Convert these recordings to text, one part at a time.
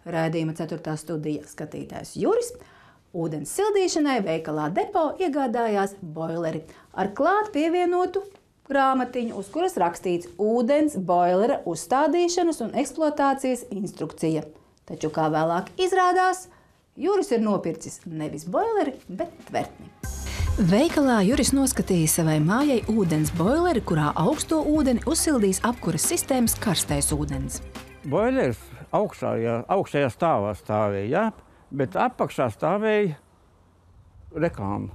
Raidījuma 4. studija skatītājs Juris. Ūdens sildīšanai veikalā Depo iegādājās boileri ar klāt pievienotu grāmatiņu, uz kuras rakstīts ūdens boilera uzstādīšanas un eksploatācijas instrukcija. Taču, kā vēlāk izrādās, Juris ir nopircis nevis boileri, bet tvertni. Veikalā Juris noskatīja savai mājai ūdens boileri, kurā augsto ūdeni uzsildīs apkuras sistēmas karstais ūdens. Boileris augšējā stāvā stāvēja, jā, bet apakšā stāvēja reklāma.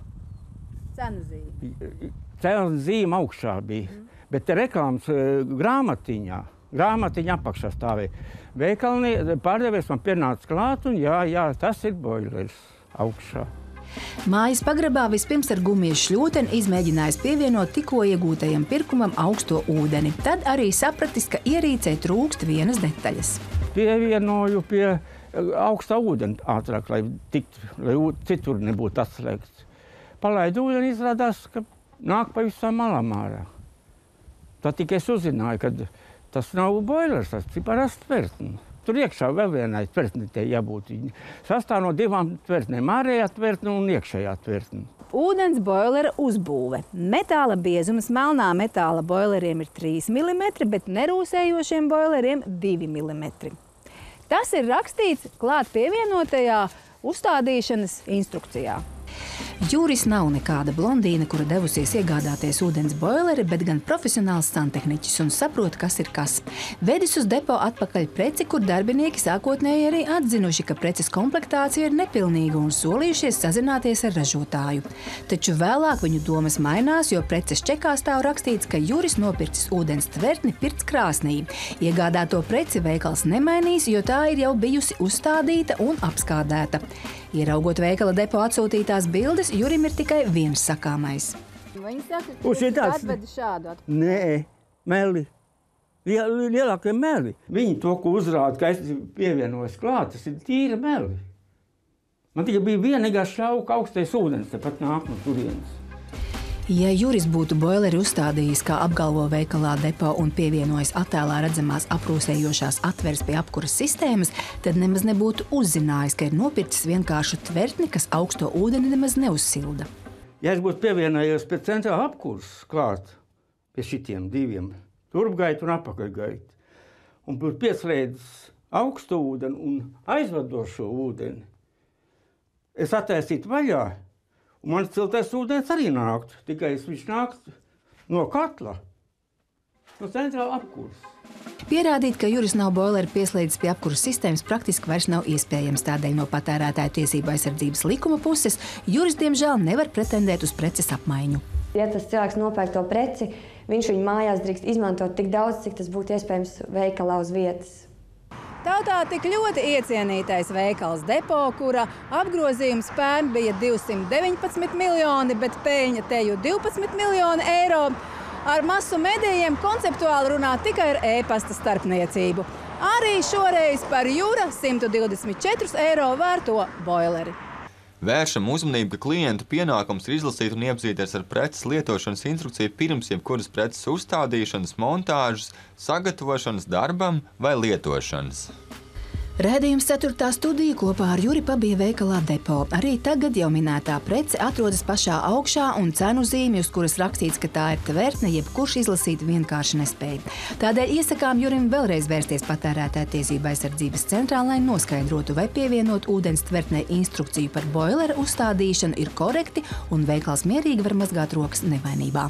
Cenu zīme. Cenu zīme augšā bija, bet reklāmas grāmatiņa apakšā stāvēja. Veikalnie pārdevējs man pienāca klāt un jā, tas ir boileris augšā. Mājas pagrabā vispirms ar gumijas šļūteni izmēģinājis pievienot tikko iegūtajam pirkumam augsto ūdeni. Tad arī sapratis, ka ierīcei trūkst vienas detaļas. Pievienoju pie augstā ūdeni ātrāk, lai citur nebūtu atslēgts. Palaidu ūdeni, izrādās, ka nāk pavisam malām ārā. Tad tikai es uzzināju, ka tas nav boilers, tas ir parasts tvertne. Tur iekšā vēl vienai tvertnei jābūt. Sastāv no 2 tvertnēm, ārējā tvertne un iekšējā tvertne. Ūdens boilera uzbūve. Metāla biezums melnā metāla boileriem ir 3 mm, bet nerūsējošiem boileriem 2 mm. Tas ir rakstīts klāt pievienotajā uzstādīšanas instrukcijā. Juris nav nekāda blondīna, kura devusies iegādāties ūdens boileri, bet gan profesionāls santehniķis un saprot, kas ir kas. Vedis uz Depo atpakaļ preci, kur darbinieki sākotnēji arī atzinuši, ka preces komplektācija ir nepilnīga un solījušies sazināties ar ražotāju. Taču vēlāk viņu domas mainās, jo preces čekā stāv rakstīts, ka Juris nopircis ūdens tvertni pirts krāsnī. Iegādāto preci veikals nemainīs, jo tā ir jau bijusi uzstādīta un apskādēta. Ieraugot veikala Depo atsūtītās bildes, Jurim ir tikai viens sakāmais. Viņi saka, ka jūs atvedi šādu atpakaļ. Nē, meli. Lielākie meli. Viņi to, ko uzrāda, ka es pievienojos klāt, tas ir tīra meli. Man tikai bija vienīgā šauka augstais ūdens, tepat nāk no turienes. Ja Juris būtu boileri uzstādījis, kā apgalvo veikalā Depo un pievienojis attēlā redzamās aprūsējošās atveres pie apkuras sistēmas, tad nemaz nebūtu uzzinājis, ka ir nopircis vienkāršu tvertni, kas augsto ūdeni nemaz neuzsilda. Ja es būtu pievienojies pie centrāla apkuras klāt, pie šitiem 2, turpgaitu un apakaļgaitu, un būtu pieslēdzis augsto ūdeni un aizvadošo ūdeni, es attaisītu vaļā. Un mans ciltais ūdens arī nāktu, tikai viņš nāktu no katla, no centrāla apkuras. Pierādīt, ka Juris nav boileri pieslēdzis pie apkuras sistēmas, praktiski vairs nav iespējams. Tādēļ no patērētāju tiesību aizsardzības likuma puses Juris, diemžēl, nevar pretendēt uz preces apmaiņu. Ja tas cilvēks nopērk to preci, viņš viņu mājās drīkst izmantot tik daudz, cik tas būtu iespējams veikalā uz vietas. Tautā tik ļoti iecienītais veikals Depo, kura apgrozījums pērn bija 219 miljoni, bet peļņa teju 12 miljoni eiro, ar masu medijiem konceptuāli runā tikai ar e-pasta starpniecību. Arī šoreiz par Jura 124 eiro vērto boileri. Vēršam uzmanību, ka klientu pienākums ir izlasīt un iepazīties ar preces lietošanas instrukciju pirms jebkuras preces uzstādīšanas, montāžas, sagatavošanas darbam vai lietošanas. Raidījums 4. studija kopā ar Juri pabija veikalā Depo. Arī tagad jau minētā prece atrodas pašā augšā un cenu zīmi, uz kuras rakstīts, ka tā ir tvertne, jebkurš izlasīt vienkārši nespēja. Tādēļ iesakām Jurim vēlreiz vērsties patērētāju tiesību aizsardzības centrā, lai noskaidrotu, vai pievienot ūdens tvertnei instrukciju par boilera uzstādīšanu ir korekti un veikals mierīgi var mazgāt rokas nevainībā.